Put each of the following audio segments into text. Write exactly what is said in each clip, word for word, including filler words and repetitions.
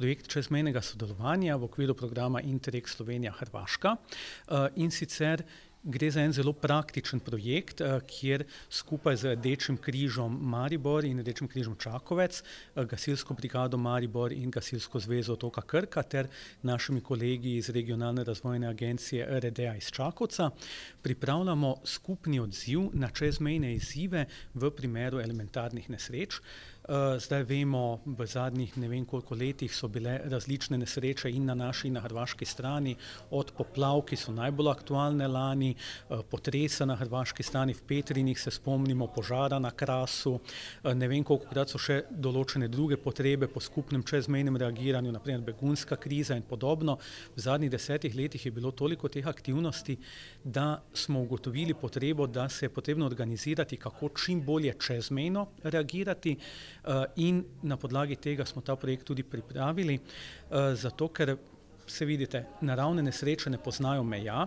projekt čezmejnega sodelovanja v okviru programa Interreg Slovenija-Hrvaška, in sicer gre za en zelo praktičen projekt, kjer skupaj z Rdečim križom Maribor in Rdečim križom Čakovec, Gasilsko brigado Maribor in Gasilsko zvezo otoka Krka ter našimi kolegi iz Regionalne razvojne agencije R R D-ja iz Čakovca pripravljamo skupni odziv na čezmejne izzive v primeru elementarnih nesreč. Zdaj vemo, v zadnjih ne vem koliko letih so bile različne nesreče in na naši in na hrvaški strani, od poplav, ki so najbolj aktualne lani, potresa na hrvaški strani, v Petrinjih se spomnimo, požara na Krasu, ne vem kolikokrat so še določene druge potrebe po skupnem čezmejnem reagiranju, na primer begunska kriza in podobno. V zadnjih desetih letih je bilo toliko teh aktivnosti, da smo ugotovili potrebo, da se je potrebno organizirati, kako čim bolje čezmejno reagirati, in na podlagi tega smo ta projekt tudi pripravili, zato ker se vidite, naravne nesreče ne poznajo meja,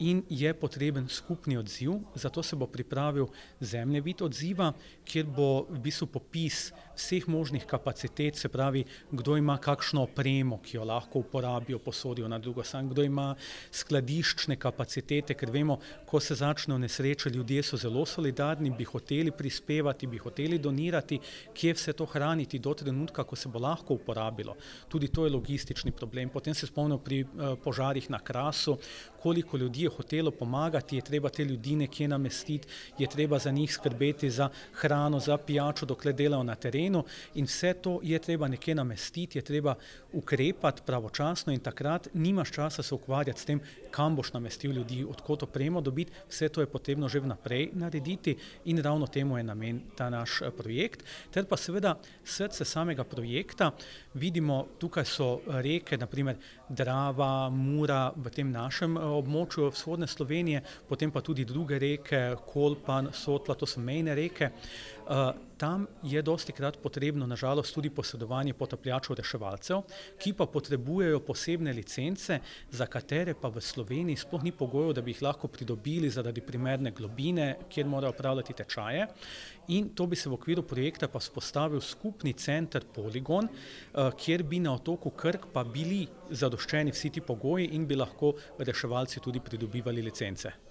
in je potreben skupni odziv, zato se bo pripravil zemljevid odziva, kjer bo v bistvu popis vseh možnih kapacitet, se pravi, kdo ima kakšno opremo, ki jo lahko uporabijo, posodijo na drugo stran, kdo ima skladiščne kapacitete, ker vemo, ko se začnejo nesreče, ljudje so zelo solidarni, bi hoteli prispevati, bi hoteli donirati, kje vse to hraniti do trenutka, ko se bo lahko uporabilo. Tudi to je logistični problem. Potem se spomnimo pri požarih na Krasu, koliko ljudi je hotelo pomagati, je treba te ljudi nekje namestiti, je treba za njih skrbeti za hrano, za pijačo, dokler delajo na terenu, in vse to je treba nekje namestiti, je treba ukrepati pravočasno in takrat nimaš časa se ukvarjati s tem, kam boš namestil ljudi, od kod opremo dobiti, vse to je potrebno že vnaprej narediti in ravno temu je namen ta naš projekt. Ter pa seveda srce samega projekta, vidimo, tukaj so reke, na primer Drava, Mura v tem našem območju vzhodne Slovenije, potem pa tudi druge reke, Kolpan, Sotla, to so mejne reke. Tam je dostikrat potrebno, na žalost, tudi posredovanje potapljačev reševalcev, ki pa potrebujejo posebne licence, za katere pa v Sloveniji sploh ni pogojev, da bi jih lahko pridobili zaradi primerne globine, kjer morajo opravljati tečaje. In to bi se v okviru projekta pa vzpostavil skupni center Poligon, kjer bi na otoku Krk pa bili zadoščeni vsi ti pogoji in bi lahko reševalci tudi pridobivali licence.